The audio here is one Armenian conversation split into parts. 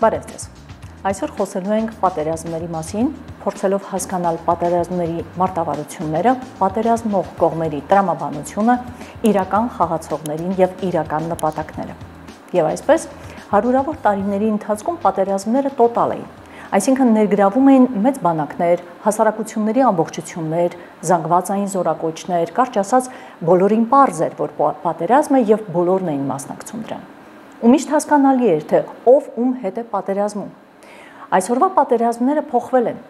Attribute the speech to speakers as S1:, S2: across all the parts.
S1: Բարև ձեզ։ Այսօր խոսելու ենք պատերազմների մասին, փորձելով հասկանալ պատերազմների մարտավարությունները, պատերազմող կողմերի տրամաբանությունը, իրական խաղացողներին եւ իրական նպատակները։ Եվ այսպես, հարյուրավոր տարիների ընթացքում պատերազմները տոտալ էին, այսինքն ներգրավում էին մեծ բանակներ, հասարակությունների ամբողջություններ, զանգվածային զորակոչներ, կարճ ասած, բոլորին պարզ էր, որ պատերազմ է եւ բոլորն էին մասնակցում դրան։ Ու միշտ հասկանալի էր, թե ով ում հետ է պատերազմում։ Այսօրվա պատերազմները փոխվել են։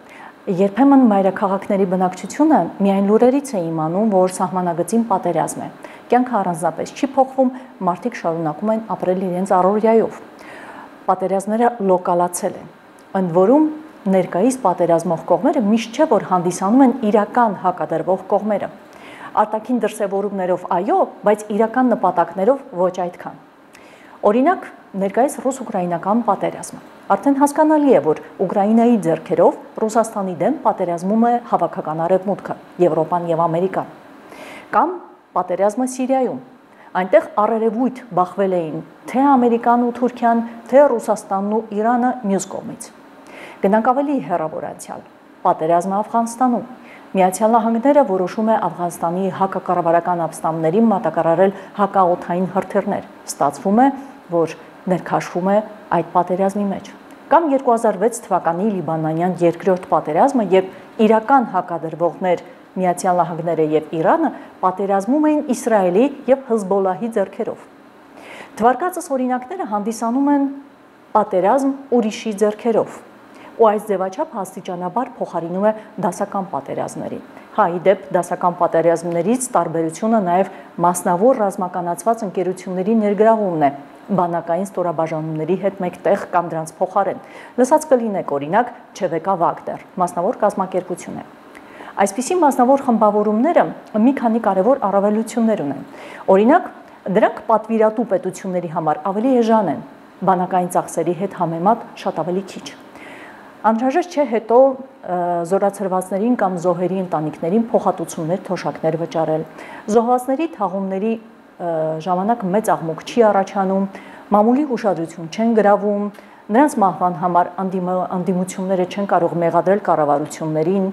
S1: Երբեմն մայրաքաղաքների բնակչությունը միայն լուրերից է իմանում, որ սահմանագծին պատերազմ է։ Կյանքը առանձնապես չի փոխվում, մարդիկ շարունակում են ապրել իրենց առօրյայով։ Պատերազմները լոկալացել են։ Ընդ որում, ներկայիս պատերազմող կողմերը միշտ չէ, որ հանդիսանում են իրական հակադրվող կողմերը։ Արտաքին դրսևորումներով այո, բայց իրական նպատակներով ոչ այդքան։ Օրինակ, ներկայիս ռուս-ուկրաինական պատերազմը։ Արդեն հասկանալի է, որ Ուկրաինայի ձեռքերով Ռուսաստանի դեմ պատերազմում է հավաքական արևմուտքը, Եվրոպան եւ Ամերիկան։ Կամ պատերազմը Սիրիայում։ Այնտեղ առերևույթ բախվել էին թե Ամերիկան ու Թուրքիան, թե Ռուսաստանն ու Իրանը մյուս կողմից։ Գնանք ավելի հեռավոր անցյալ։ Պատերազմը Աֆղանստանում։ Միացյալ Նահանգները որոշում է Աֆղանստանի հակակառավարական ապստամբներին մատակարարել հակաօդային հրթիռներ։ Ստացվում է, որ ներքաշվում է այդ պատերազմի մեջ։ Կամ 2006 թվականի լիբանանյան երկրորդ պատերազմը, երբ իրական հակադրվողներ Միացյալ Նահանգները եւ Իրանը պատերազմում էին Իսրայելի եւ Հզբոլահի ձեռքերով։ Թվարկածս օրինակները հանդիսանում են պատերազմ ուրիշի ձեռքերով, ու այս ձևաչափ աստիճանաբար փոխարինում է դասական պատերազմներին։ Ի դեպ, դասական պատերազմներից տարբերությունը նաև մասնավոր ռազմականացված ընկերությունների ներգրավումն է, բանակային ստորաբաժանումների հետ մեկտեղ կամ դրանց փոխարեն։ Լսած կլինեք օրինակ ՉՎԿ Վագներ, մասնավոր կազմակերպություն է։ Այսպիսի մասնավոր խմբավորումները մի քանի կարևոր առավելություններ ունեն։ Օրինակ, դրանք պատվիրատու պետությունների համար ավելի էժան են, բանակային ծախսերի հետ համեմատ շատ ավելի քիչ։ Անհրաժեշտ չէ հետո զորացրվածներին կամ զոհերի ընտանիքներին փոխհատուցումներ, թոշակներ վճարել։ Զոհվածների թաղումների ժամանակ մեծ աղմուկ չի առաջանում, մամուլի ուշադրություն չեն գրավում, նրանց մահվան համար անդիմությունները չեն կարող մեղադրել կառավարություններին։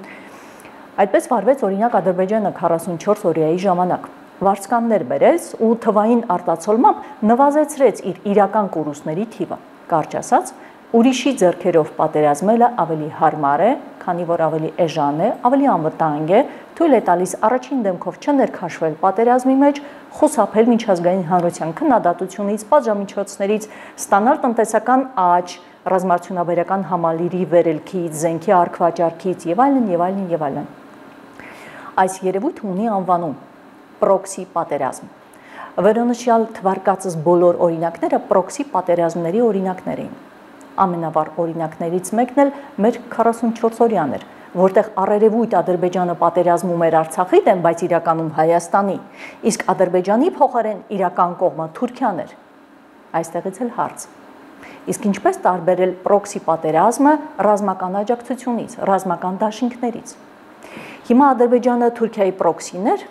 S1: Այդպես վարվեց օրինակ Ադրբեջանը 44 օրյայի ժամանակ։ Վարձկաններ բերեց ու թվային արտացոլմամբ նվազեցրեց իր իրական կորուստների թիվը։ Կարճ ասած, ուրիշի ձեռքերով պատերազմելը ավելի հարմար է, քանի որ ավելի էժան է, ավելի անվտանգ է, թույլ է տալիս առաջին դեմքով չներքաշվել պատերազմի մեջ, խուսափել միջազգային հանրության քննադատությունից, պատժամիջոցներից, ստանալ տնտեսական աճ, ռազմարդյունաբերական համալիրի վերելքից, զենքի առքվաճառքից եւ այլն եւ այլն եւ այլն։ Այս երևույթը ունի անվանում պրոքսի պատերազմ։ Վերոնշյալ թվարկածս բոլոր օրինակները պրոքսի պատերազմների օրինակներ էին։ Ամենավառ օրինակներից մեկն էլ մեր 44-օրյան էր, որտեղ առերևույթ Ադրբեջանը պատերազմում էր Արցախի դեմ, բայց իրականում Հայաստանի, իսկ Ադրբեջանի փոխարեն իրական կողմը Թուրքիան էր։ Այստեղից էլ հարց։ Իսկ ինչպես տարբերել պրոքսի պատերազմը ռազմական աջակցությունից, ռազմական դաշինքներից։ Հիմա Ադրբեջանը Թուրքիայի պրոքսին էր,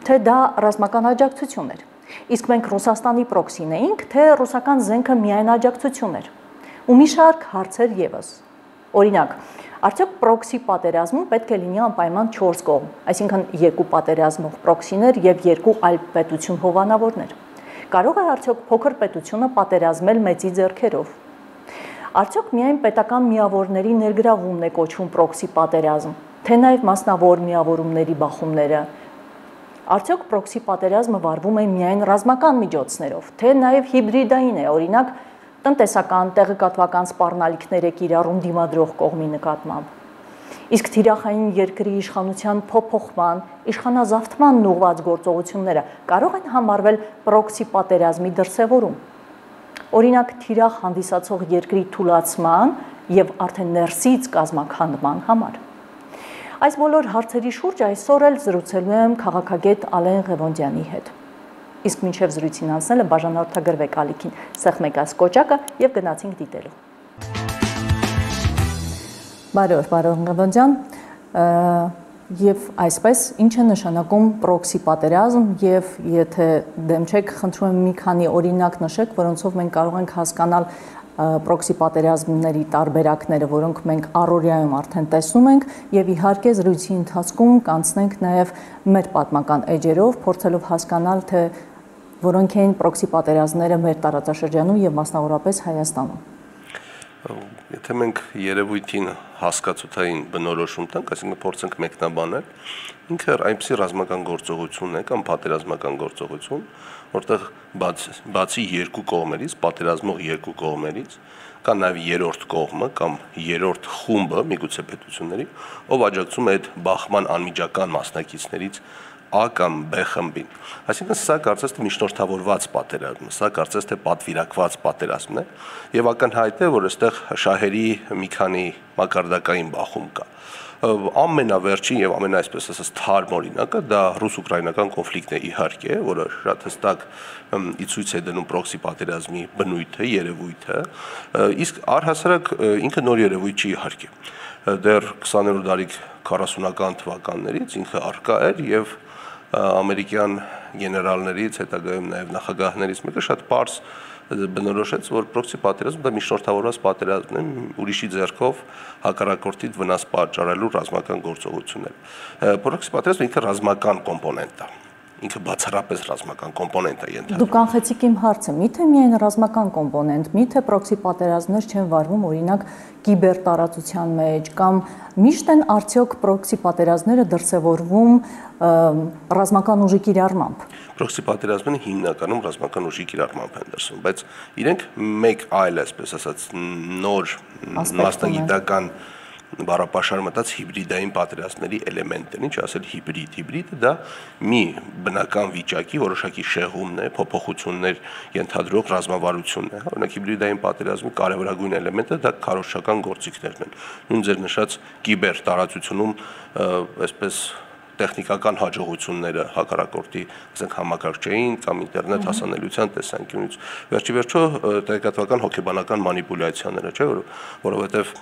S1: թե դա ռազմական աջակցություն էր։ Իսկ մենք Ռուսաստանի պրոքսին էինք, թե ռուսական զենքը միայն աջակցություն էր։ Ու մի շարք հարցեր եւս։ Օրինակ, արդյոք պրոքսի պատերազմում պետք է լինի անպայման 4 կողմ, այսինքն 2 պատերազմող պրոքսիներ եւ 2 այլ պետություն հովանավորներ։ Կարող է արդյոք փոքր պետությունը պատերազմել մեծի ձեռքերով։ Արդյոք միայն պետական միավորների ներգրավումն է կոչվում պրոքսի պատերազմ, թե նաեւ մասնավոր միավորումների բախումները։ Արդյոք պրոքսի պատերազմը վարվում է միայն ռազմական միջոցներով, թե նաեւ հիբրիդային է, օրինակ տնտեսական, տեղեկատվական սպառնալիքներ է կիրառում դիմադրող կողմի նկատմամբ։ Իսկ թիրախային երկրի իշխանության փոփոխման, իշխանազավթմանն ուղղված գործողությունները կարող են համարվել պրոքսի պատերազմի դրսևորում։ Օրինակ, թիրախ հանդիսացող երկրի թուլացման եւ արդեն ներսից կազմաքանդման համար։ Այս բոլոր հարցերի շուրջ այսօր էլ զրուցելու եմ քաղաքագետ Ալեն Ղևոնդյանի հետ։ Իսկ մինչև զրույցին անցնելը բաժանորդագրվեք ալիքին, սեղմեք այս կոճակը եւ գնացինք դիտելու։ Բարև, պարոն Ղևոնդյան, եւ այսպես ինչ է նշանակում պրոքսի պատերազմ եւ եթե դեմ չեք, խնդրում եմ մի քանի օրինակ նշեք, որոնցով մենք կարող ենք հասկանալ պրոքսի պատերազմների տարբերակները, որոնք մենք առօրյայում արդեն տեսնում ենք, եւ իհարկե զրույցի ընթացքում կանցնենք նաեւ մեր պատմական էջերով, փորձելով հասկանալ, թե որոնք են պրոքսի պատերազմները մեր տարածաշրջանում եւ մասնավորապես Հայաստանում։
S2: Եթե մենք երևույթին հասկացութային բնորոշում տանք, այսինքն փորձենք մեկնաբանել, ինքը այնպիսի ռազմական գործողություն է կամ պատերազմական գործողություն, որտեղ բացի երկու կողմերից, պատերազմող երկու կողմերից, կա նաև երրորդ կողմը կամ երրորդ խումբը, միգուցե պետությունների, ով աջակցում է այդ բախման անմիջական մասնակիցներից A կամ B խմբին։ Այսինքն սա կարծես թե միջնորդավորված պատերազմն է, սա կարծես թե պատվիրակված պատերազմն է, եւ ակնհայտ է, որ այստեղ շահերի մի քանի մակարդակային բախում կա։ Ամենավերջին եւ ամենայսպես ասած թարմ օրինակը դա ռուս-ուկրաինական կոնֆլիկտն է իհարկե, որը շատ հստակ ի ցույց է դնում պրոքսի պատերազմի բնույթը, երևույթը, իսկ առհասարակ ինքը նոր երևույթ չի իհարկե։ Դեռ 20-րդ դարի 40-ական թվականներից ինքը արկա էր եւ ամերիկյան գեներալներից, հետագայում նաև նախագահներից մեկը շատ պարզ բնորոշեց, որ պրոքսի պատերազմը դա միջնորդավորված պատերազմն է, ուրիշի ձեռքով հակառակորդից վնաս պատճառելու ռազմական գործողություններ։ Պրոքսի պատերազմը ինքը ռազմական կոմպոնենտ է, ինքը բացառապես ռազմական կոմպոնենտ է ենթադրում։
S1: Դուք կանխեցիք իմ հարցը, միթե միայն ռազմական կոմպոնենտ, միթե պրոքսի պատերազմներ չեն վարվում օրինակ կիբեր տարածության մեջ կամ միշտ են արդյոք պրոքսի պատերազմները դրսևորվում ռազմական ուժի կիրառմամբ։
S2: Պրոքսի պատերազմները հիմնականում ռազմական ուժի կիրառմամբ են դրսևորվում, բայց իրենք մեկ այլ, այսպես ասած, նոր մասնագիտական բառապաշար մտած հիբրիդային պատերազմների էլեմենտ են, ինչ ասել հիբրիդը դա մի բնական վիճակի որոշակի շեղումն է, փոփոխություններ ենթադրող ռազմավարությունն է։ Օրինակ հիբրիդային պատերազմի կարևորագույն էլեմենտը դա քարոզչական գործիքներն են։ Նույն ձեր նշած կիբեր տարածությունում այսպես տեխնիկական հաջողությունները հակառակորդի, ասենք համակարգչային կամ ինտերնետ հասանելիության տեսանկյունից։ Վերջիվերջո տեղեկատվական հոգեբանական մանիպուլյացիաները, չէ՞, որովհետև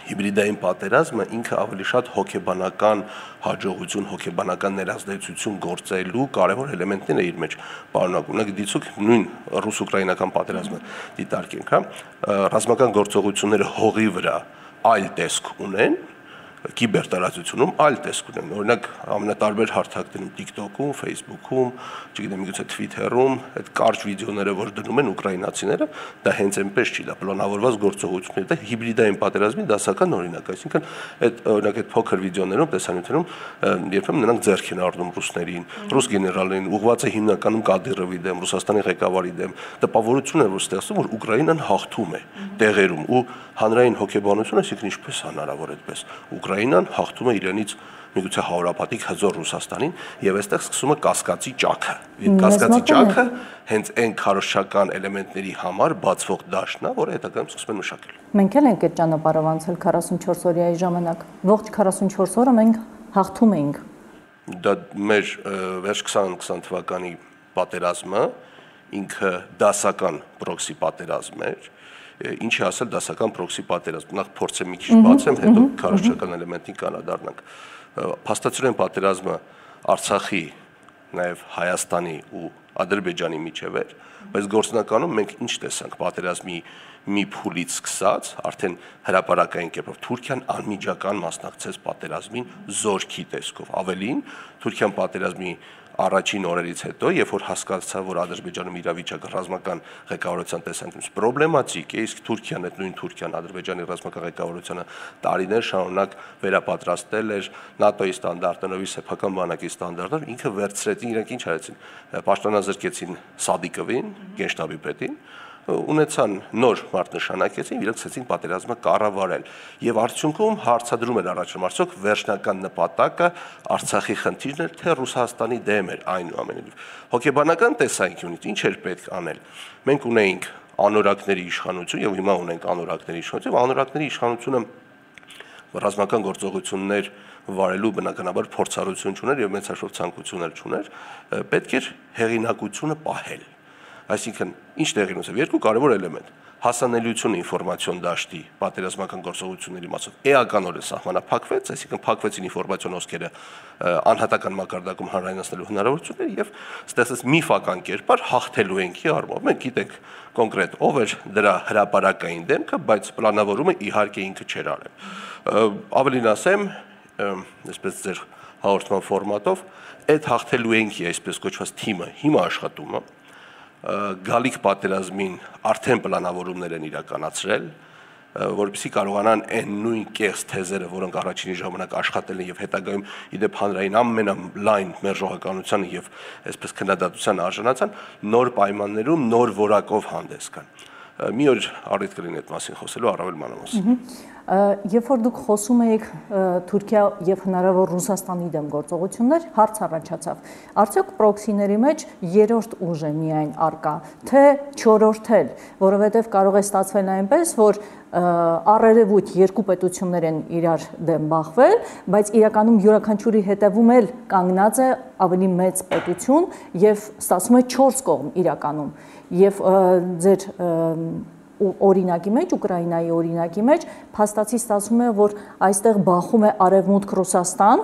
S2: հիբրիդային պատերազմը ինքը ավելի շատ հոգեբանական հաջողություն, հոգեբանական ներազդեցություն գործելու կարևոր էլեմենտներ է իր մեջ պարունակում։ Ունենք դիցուք նույն ռուս-ուկրաինական պատերազմը դիտարկենք, հա, ռազմական գործողությունները հողի վրա այլ տեսք ունեն, կիբեր տարածությունում այլ տեսք ունեն։ Օրինակ ամենատարբեր հարթակներում TikTok-ում, Facebook-ում, չգիտեմ, միգուցե Twitter-ում, այդ կարճ վիդեոները, որ դնում են ուկրաինացիները, դա հենց այնպես չի, դա պլանավորված գործողություններ, դա հիբրիդային պատերազմի դասական օրինակ, այսինքն այդ օրինակ այդ փոքր վիդեոներում, տեսանյութերում երբեմն նրանք ձեռք են առնում ռուսներին, ռուս գեներալներին, ուղղված է հիմնականում Կադիրովի դեմ, Ռուսաստանի ղեկավարի դեմ, տպավորություն է որ ստեղծում, որ Ուկրաինան հաղթում է տեղերում ու հանրային հոգեբանությունը, այսինքն ինչպես հնարավոր այդպես Ուկրաինան հաղթում է իրենից միգուցե հարյուրապատիկ հզոր Ռուսաստանին եւ այստեղ սկսում է կասկածի ճաքը։ Կասկածի ճաքը հենց այն քարոզչական էլեմենտների համար բացվող դաշտն է, որը հետագայում սկսում են մշակել։
S1: Մենք էլ ենք այդ ճանապարհով անցել 44 օրյայի ժամանակ։ Ողջ 44 օրը մենք հաղթում էինք։
S2: Դա մեր վերջ 2020 թվականի պատերազմը ինքը դասական պրոքսի պատերազմ էր։ Ինչի ասել դասական պրոքսի պատերազմ։ Նախ փորձեմ մի քիչ բացեմ, հետո քարոզչական էլեմենտին կանադառնանք։ Փաստացիորեն պատերազմը Արցախի, նաև Հայաստանի ու Ադրբեջանի միջև էր, բայց գործնականում մենք ինչ տեսանք պատերազմի մի փուլից սկսած, արդեն հրապարակային կերպով Թուրքիան անմիջական մասնակցեց պատերազմին զորքի տեսքով։ Ավելին, Թուրքիան պատերազմի առաջին օրերից հետո, երբ որ հասկացավ, որ Ադրբեջանում իրավիճակը ռազմական ղեկավարության տեսանկյունից պրոբլեմատիկ է, իսկ Թուրքիան, այդ նույն Թուրքիան Ադրբեջանի ռազմական ղեկավարությունը տարիներ շարունակ վերապատրաստել էր ՆԱՏՕ-ի ստանդարտներով, սեփական բանակի ստանդարտներով, ինքը վերցրեցին, իրենք ինչ արեցին, պաշտոնազրկեցին Սադիկովին, գենշտաբի պետին, ունեցան նոր մարդ նշանակեցին, իրենք ցեցին պատերազմը կառավարել եւ արդյունքում հարցադրում էր առաջում արդյոք վերջնական նպատակը Արցախի խնդիրն էր թե Ռուսաստանի դեմ էր այնուամենայնիվ հոգեբանական տեսանկյունից ինչ էր պետք անել մենք ունեինք անորակների իշխանություն եւ հիմա ունենք անորակների իշխանություն եւ անորակների իշխանությունը ռազմական գործողություններ վարելու բնականաբար փորձառություն չուներ եւ մեծ հաշվով ցանկություններ չուներ պետք էր հեղինակությունը պահել Այսինքն, ինչ տեղի ունեցավ, երկու կարևոր էլեմենտ։ Հասանելիությունը ինֆորմացիոն դաշտի պատերազմական գործողությունների մասով էականորեն սահմանափակվեց, այսինքն փակվեցին ինֆորմացիոն հոսքերը անհատական մակարդակում հանրայնացնելու հնարավորությունները եւ ստեղծեց միֆական կերպար հաղթելու ենքի առումով։ Մենք գիտենք կոնկրետ ով էր դրա հրապարակային դեմքը, բայց պլանավորումը իհարկե ինքը չէր արել։ Ավելին ասեմ, այսպես ձեր հաղորդման ֆորմատով, այդ հաղթելու ենքի այսպես կոչված թիմը հիմա աշխատում է, գալիք պատերազմին արդեն պլանավորումներ են իրականացրել, որպեսզի կարողանան այն նույն կեղծ թեզերը, որոնք առաջինի ժամանակ աշխատել են եւ հետագայում իդեպ հանրային ամենալայն մերժողականության եւ այսպես քննադատության արժանացան, նոր պայմաններում նոր որակով հանդես գան։ Մի օր առիթ կլինի այդ մասին խոսելու առավել մանրամասն։
S1: Երբ որ դուք խոսում եք Թուրքիա եւ հնարավոր Ռուսաստանի դեմ գործողություններ, հարց առաջացավ. արդյոք պրոքսիների մեջ երրորդ ուժ է միայն արկա, թե չորրորդ էլ, որովհետեւ կարող է ստացվել այնպես, որ առերևույթ երկու պետություններ են իրար դեմ բախվել, բայց իրականում յուրաքանչյուրի հետևում էլ կանգնած է ավելի մեծ պետություն եւ ստացվում է 4 կողմ իրականում։ Եվ ձեր օրինակի մեջ, Ուկրաինայի օրինակի մեջ փաստացի ստացվում է, որ այստեղ բախում է Արևմուտք Ռուսաստան,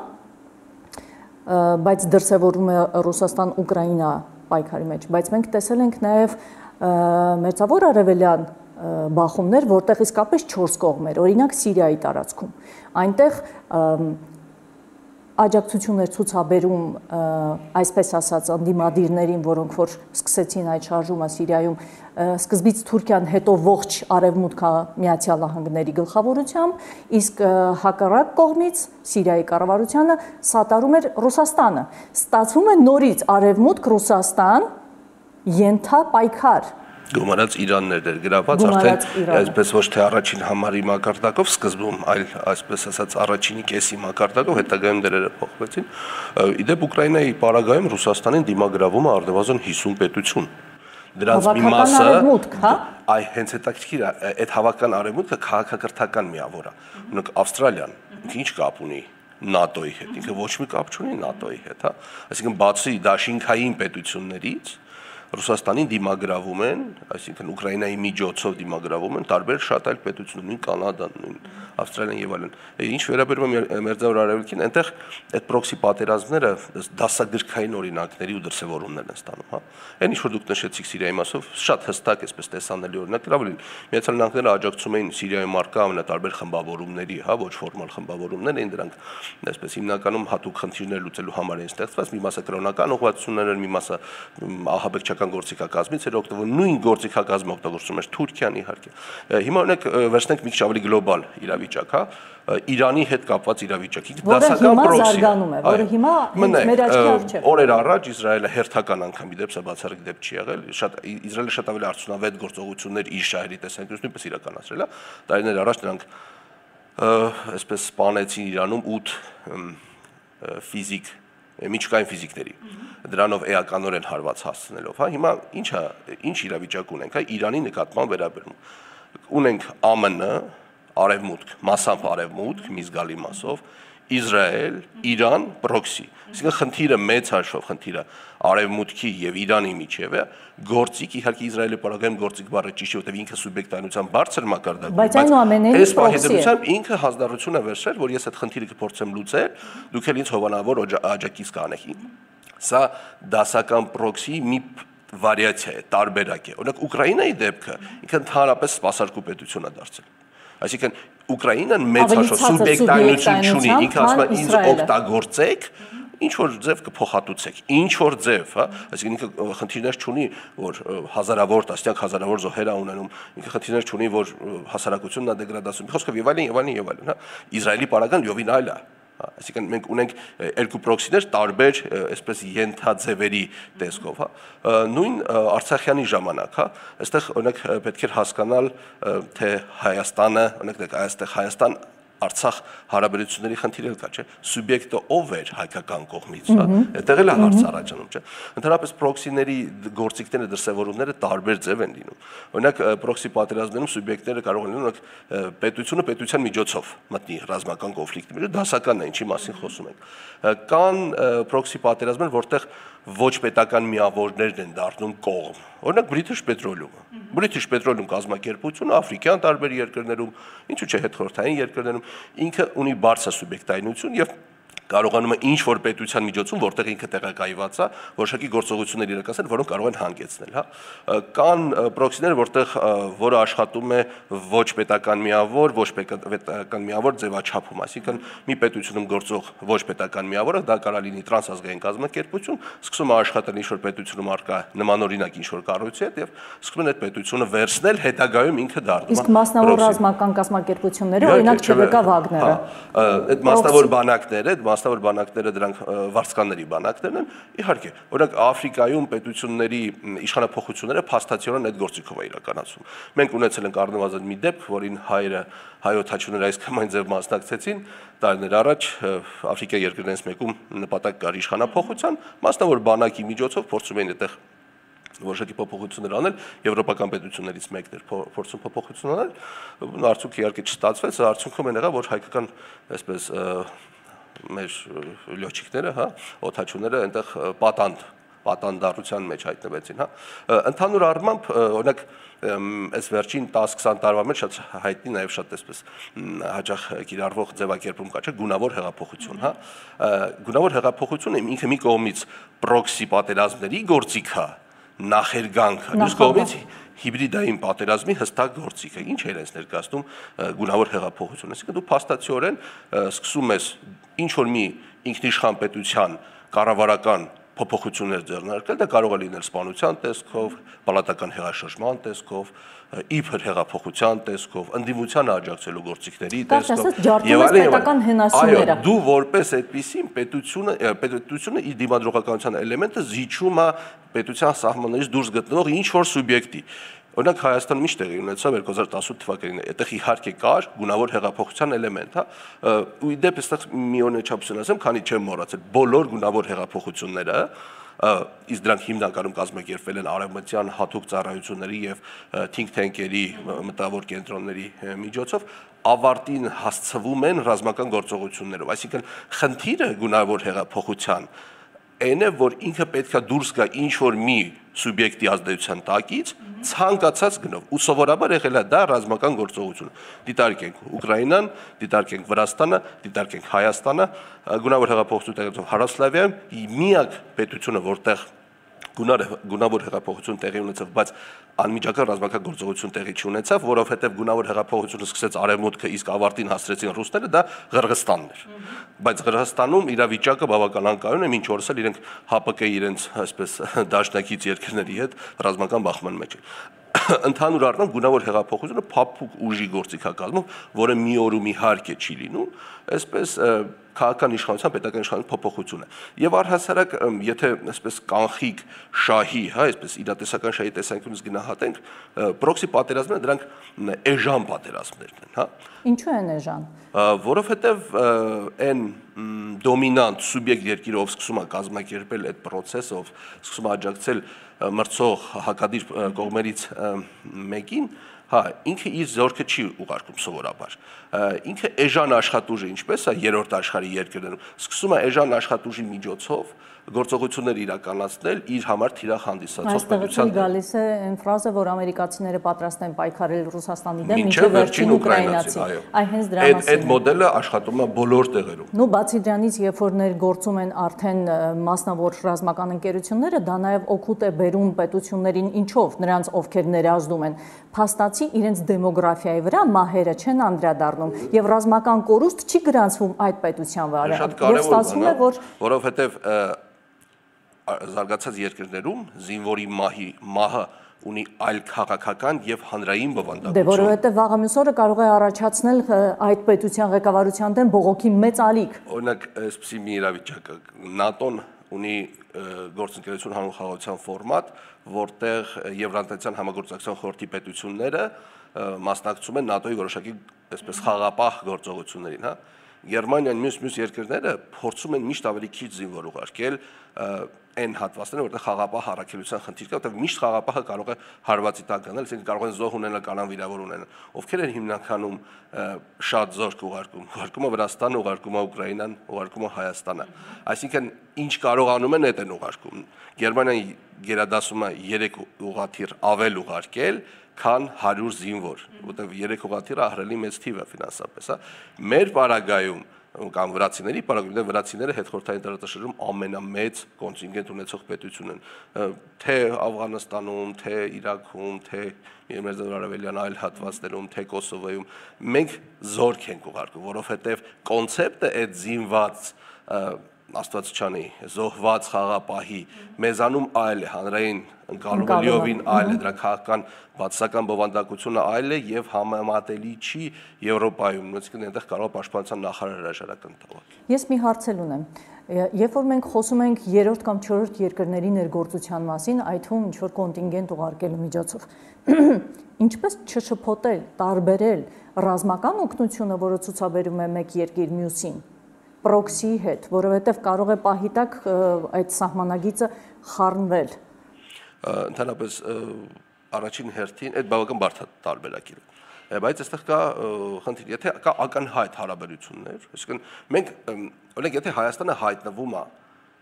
S1: բայց դրսևորվում է Ռուսաստան-Ուկրաինա պայքարի մեջ, բայց մենք տեսել ենք նաև մերձավոր արևելյան բախումներ, որտեղ իսկապես 4 կողմ էր, օրինակ Սիրիայի տարածքում։ Այնտեղ աջակցություններ ցուցաբերում, այսպես ասած, անդիմադիրներին, որոնք որ սկսեցին այդ շարժումը Սիրիայում, սկզբից Թուրքիան, հետո ողջ Արևմուտքը Միացյալ Նահանգների գլխավորությամբ, իսկ հակառակ կողմից Սիրիայի կառավարությանը սատարում էր Ռուսաստանը։ Ստացվում է նորից Արևմուտք Ռուսաստան ենթապայքար։
S2: Գումարած Իրաններ էր գրաված, արդեն այսպես ոչ թե առաջին համարի մակարդակով սկզբում, այլ այսպես ասած առաջինի կեսի մակարդակով, հետագայում դերերը փոխվեցին։ Իդեպ Ուկրաինայի պարագայում Ռուսաստանին դիմագրավում է առնվազն 50 պետություն։ Դրանց մի մասը, այ հենց հետաքրքիր է, այդ հավաքական արևմուտքը քաղաքակրթական միավոր է։ Օրինակ Ավստրալիան ինչ կապ ունի ՆԱՏՕ-ի հետ, ինքը ոչ մի կապ չունի ՆԱՏՕ-ի հետ, հա։ Այսինքն բացի դաշինքային պետություններից Ռուսաստանին դիմագրավում են, այսինքն Ուկրաինայի միջոցով դիմագրավում են տարբեր շատ այլ պետություններ, նույն Կանադան, նույն Ավստրալիան եւ այլն։ Ինչ վերաբերում է Մերձավոր Արևելքին, այնտեղ այդ պրոքսի պատերազմները դասագրքային օրինակների ու դրսևորումներ են ստանում, հա։ Այն ինչ որ դուք նշեցիք Սիրիայի մասով, շատ հստակ այսպես տեսանելի օրինակ, լավ լինի։ Միացյալ Նահանգները աջակցում էին Սիրիայում արկա ամենատարբեր խմբավորումների, հա, ոչ ֆորմալ խմբավորումներ էին, դրանք այսպես հիմնականում հատուկ խնդիրներ լուծելու համար էին ստեղծված, մի մասը կրոնական ուղղվածություններ էր, մի մասը ահաբեկչական գործիքակազմից էր օգտվում, նույն գործիքակազմը օգտագործում էր Թուրքիան իհարկե։ Հիմա օրինակ վերցնենք մի քիչ ավելի գլոբալ իրավիճակ, հա, Իրանի հետ կապված իրավիճակ։
S1: Դասական պրոքսի զարգանում է, որը հիմա մեր աչքի առջև։
S2: Օրեր առաջ Իսրայելը հերթական անգամ իդեպ սա բացառիկ դեպք չի եղել, Իսրայելը շատ ավելի արդյունավետ գործողություններ իր շահերի տեսանկյունից նույնպես իրականացրել է։ Տարիներ առաջ նրանք այսպես սպանեցին Իրանում 8 ֆիզիկ միջուկային ֆիզիկների, դրանով էականորեն հարված հասցնելով, հա, հիմա ինչ իրավիճակ ունենք, հա, Իրանի նկատմամբ վերաբերում։ Ունենք ԱՄՆ, Արևմուտք, մասամբ Արևմուտք, մի զգալի մասով, Իսրայել, Իրան, պրոքսի։ Այսինքն խնդիրը մեծ հաշվով խնդիրը Արևմուտքի եւ Իրանի միջև է, գործիք իհարկե Իսրայելի պարագայում գործիք բառը ճիշտ է, որտեղ ինքը սուբյեկտայնության բարձր մակարդակում,
S1: բայց այնուամենայնիվ
S2: պահեդությամբ ինքը հանձնառություն է վերցրել, որ ես այդ խնդիրը կփորձեմ լուծել, դուք էլ ինձ հովանավոր աջակից կանեք։ Սա դասական պրոքսի մի վարիացիա է, տարբերակ է։ Օրինակ Ուկրաինայի դեպքը ինքը ընդհանրապես սպասարկու պետություն է դարձել։ Այսինքն Ուկրաինան մեծ հաշվով սուբյեկտայնություն չունի, ինքը ասում է ինձ օգտագործեք, ինչ որ ձև կփոխհատուցեք, ինչ որ ձև, հա, այսինքն ինքը խնդիրներ չունի, որ հազարավոր, տասնյակ հազարավոր զոհեր ունենում, ինքը խնդիրներ չունի, որ հասարակությունն է դեգրադացում, խոսքով եւ այլն, հա, Իսրայելի պարագան լիովին այլ է։ Այսինքն մենք ունենք երկու պրոքսիներ տարբեր այսպես ենթաձևերի տեսքով, հա, նույն Արցախյանի ժամանակ, հա, այստեղ օրինակ պետք է հասկանալ, թե Հայաստանը, օրինակ այստեղ Հայաստան Արցախ հարաբերությունների խնդիրը կա, չէ՞, սուբյեկտը ով էր հայկական կողմից, հա, այդտեղ էլ է հարց առաջանում, չէ՞։ Ընդհանրապես պրոքսիների գործիքները, դրսևորումները տարբեր ձև են լինում։ Օրինակ պրոքսի պատերազմներում սուբյեկտները կարող են լինել, օրինակ պետությունը պետության միջոցով մտնի ռազմական կոնֆլիկտի մեջ, դասականն է, ինչի մասին խոսում ենք։ Կան պրոքսի պատերազմներ, որտեղ ոչ պետական միավորներն են դառնում կողմ։ Օրինակ British Petroleum-ը։ British Petroleum կազմակերպությունը աֆրիկյան տարբեր երկրներում, ինչու՞ չէ հետխորհրդային երկրներում ինքը ունի բարձր սուբյեկտայնություն եւ կարողանում է ինչ-որ պետության միջոցում, որտեղ ինքը տեղակայված է, որոշակի գործողություններ իրականացնել, որոնք կարող են հանգեցնել, հա։ Կան պրոքսիներ, որը աշխատում է ոչ պետական միավոր, ոչ պետական միավոր ձևաչափում, այսինքն մի պետությունում գործող ոչ պետական միավորը, դա կարող լինի տրանսազգային կազմակերպություն, սկսում է աշխատել ինչ-որ պետությունում առկա նմանօրինակ ինչ-որ կառույցի հետ եւ սկսում են այդ պետությունը վերցնել, հետագայում ինքը դառնում է։
S1: Իսկ մասնավոր ռազմական կազմակերպությունները, օրինակ ՉՎԿ Վագները։
S2: Այդ մասնավոր բանակները, դրանք վարձկանների բանակներն են, իհարկե, օրինակ Աֆրիկայում պետությունների իշխանափոխությունները փաստացիորեն այդ գործիքով է իրականացում։ Մենք ունեցել ենք առնվազն մի դեպք, որին հայոթաչուները այս կամ այն ձև մասնակցեցին, տարիներ առաջ Աֆրիկայի երկրներից մեկում նպատակ կար իշխանափոխության, մասնավոր բանակի միջոցով փորձում էին այդտեղ որոշակի փոփոխություններ անել, եվրոպական պետություններից մեկն էր փորձում փոփոխություն անել, արդյունքը իհարկե չստացվեց, արդյունքում են եղավ, որ հայկական այսպես մեր լյոչիկները, հա, օդաչուները այնտեղ պատանդառության մեջ հայտնվեցին, հա։ Ընդհանուր առմամբ, օրինակ, այս վերջին 10-20 տարվա մեջ շատ հայտնի նաև շատ այսպես հաճախ կիրառվող ձևակերպում կա, չէ՞, գունավոր հեղափոխություն, հա։ Գունավոր հեղափոխությունը ինքը մի կողմից պրոքսի պատերազմների գործիք է, նախերգանք, մյուս կողմից հիբրիդային պատերազմի հստակ գործիք է։ Ինչ է իրենց ներկայացնում գունավոր հեղափոխությունը։ Այսինքն դու փաստացիորեն սկսում ես ինչ-որ մի ինքնիշխան պետության կառավարական փոփոխություններ ձեռնարկել, դա կարող է լինել սպանության տեսքով, պալատական հեղաշրջման տեսքով, իբր հեղափոխության տեսքով, ընդդիմությանը աջակցելու գործիքների տեսքով,
S1: եւ այլն։ Այո,
S2: դու որպես այդպիսին պետությունը իր դիմադրողականության էլեմենտը զիջում է պետության սահմաններից դուրս գտնող ինչ-որ սուբյեկտի։ Օրինակ Հայաստանում ինչ տեղի ունեցավ 2018 թվականին, այդտեղ իհարկե կար գունավոր հեղափոխության էլեմենտ, հա, ու իդեպ այստեղ մի օրինաչափություն ասեմ, քանի չեմ մոռացել, բոլոր գունավոր հեղափոխությունները, իսկ դրանք հիմնականում կազմակերպվել են արևմտյան հատուկ ծառայությունների եւ think tank-երի մտավոր կենտրոնների միջոցով, ավարտին հասցվում են ռազմական գործողություններով, այսինքն խնդիրը գունավոր հեղափոխության այն է, որ ինքը պետքա դուրս գա ինչ-որ մի սուբյեկտի ազդեցության տակից, ցանկացած գնով, ու սովորաբար եղել է դա ռազմական գործողություն։ Դիտարկենք Ուկրաինան, դիտարկենք Վրաստանը, դիտարկենք Հայաստանը, գունավոր հեղափոխություն տեղի Հարավսլավիայում, միակ պետությունը, որտեղ գունավոր հեղափոխություն տեղի ունեցավ, բայց անմիջական ռազմական գործողություն տեղի չունեցավ, որովհետև գունավոր հեղափոխությունը սկսեց արևմուտքը, իսկ ավարտին հասցրեցին ռուսները, դա Ղրղստանն էր։ Բայց Ղրղստանում իրավիճակը բավականին կայուն է, մինչ օրս էլ իրենք ՀԱՊԿ-ի իրենց այսպես դաշնակից երկրների հետ ռազմական բախման մեջ են։ Ընդհանուր առմամբ գունավոր հեղափոխությունը փափուկ ուժի գործիքակազմով, որը մի օրում իհարկե չի լինում, այսպես քաղաքական իշխանության, պետական իշխանության փոփոխություն է։ Եվ առհասարակ, եթե այսպես կանխիկ շահի, հա, այսպես իրատեսական շահի տեսանկյունից գնահատենք, պրոքսի պատերազմները դրանք էժան պատերազմներն են, հա։
S1: Ինչու են էժան։
S2: Որովհետև այն դոմինանտ սուբյեկտ երկիրը, ով սկսում է կազմակերպել այդ process-ով, սկսում է աջակցել մրցող հակադիր կողմերից մեկին, հա, ինքը իր զորքը չի ուղարկում սովորաբար։ Ինքը էժան աշխատուժը, ինչպես է երրորդ աշխարհի երկրներում, սկսում է էժան աշխատուժի միջոցով գործողություններ իրականացնել իր համար թիրախ հանդիսացող
S1: պետության դեմ։ Այստեղ գալիս է այն ֆրազը, որ ամերիկացիները պատրաստ են պայքարել Ռուսաստանի դեմ, մինչև վերջին ուկրաինացի։ Այ հենց դրա մասին։
S2: Այդ մոդելը աշխատում է բոլոր տեղերում։
S1: Նու բացի դրանից, երբ որ ներգործում են արդեն մասնավոր ռազմական ընկերությունները, դա նաև օգուտ է բերում պետություններին, ինչով նրանց ովքեր ներազդում են, փաստացի իրենց դեմոգրաֆիայի վրա մահերը չեն անդրադառնում եւ ռազմական կորուստ չի գրանցվում այդ պետության վրա։ Եվ ստացվում է, որ
S2: որովհետեւ զարգացած երկրներում զինվորի մահը ունի այլ քաղաքական եւ հանրային բովանդակություն։
S1: Դե որովհետեւ վաղը մյուս օրը կարող է առաջացնել այդ պետության ղեկավարության դեմ բողոքի մեծ ալիք։
S2: Օրինակ, այսպեսի մի իրավիճակ է, ՆԱՏՕ-ն ունի գործընկերություն հանուն խաղաղության ֆորմատ, որտեղ Եվրատեսական համագործակցության խորհրդի պետությունները մասնակցում են ՆԱՏՕ-ի որոշակի այսպես խաղապահ գործողություններին, հա։ Գերմանիան մյուս երկրները փորձում են միշտ ավելի քիչ զինվոր ուղարկել, այն հատվածները, որտեղ խաղապահ առաքելության խնդիր կա, որտեղ միշտ խաղապահը կարող է հարվածի տակ գնել, այսինքն կարող են զոհ ունենալ կամ վիրավոր ունենալ։ Ովքեր են հիմնականում շատ զորք ուղարկում է Վրաստանը, ուղարկում է Ուկրաինան, ուղարկում է Հայաստանը։ Այսինքն ինչ կարողանում են, այդ են ուղարկում։ Գերմանիան գերադասում է 3 ուղղաթիռ ավել ուղարկել, քան 100 զինվոր, որտեղ 3 ուղղաթիռը ահռելի մեծ թիվ է ֆինանսապես, հա։ Մեր պարագայում կամ վրացիների պարագայում վրացիները հետխորհրդային տարածաշրջանում ամենամեծ կոնտինգենտ ունեցող պետություն են, թե Աֆղանստանում, թե Իրաքում, թե Արևելյան այլ հատվածներում, թե Կոսովոյում, մենք զորք ենք ուղարկում, որովհետև կոնցեպտը այդ զինված Աստվածչանի զոհված խաղապահի մեզանում այլ է, հանրային ընկալումը լիովին այլ է, դրա քաղաքական բացասական բովանդակությունը այլ է եւ համեմատելի չի Եվրոպայում, այսինքն այնտեղ կարող է պաշտպանության նախարար հրաժարական տալ։
S1: Ես մի հարցել ունեմ։ Երբ որ մենք խոսում ենք 3-րդ կամ 4-րդ երկրների ներգործության մասին, այդ թվում ինչ որ կոնտինգենտ ուղարկելու միջոցով, ինչպես չշփոթել, տարբերել ռազմական օգնությունը, որը ցուցաբերում է մեկ երկիր մյուսին, պրոքսի հետ, որովհետև կարող է պահի տակ այդ սահմանագիծը խառնվել։
S2: Ընդհանրապես առաջին հերթին այդ բավական բարդ տարբերակ է, բայց այստեղ կա խնդիր, եթե կա ակնհայտ հարաբերություններ, այսինքն մենք օրինակ եթե Հայաստանը հայտնվում է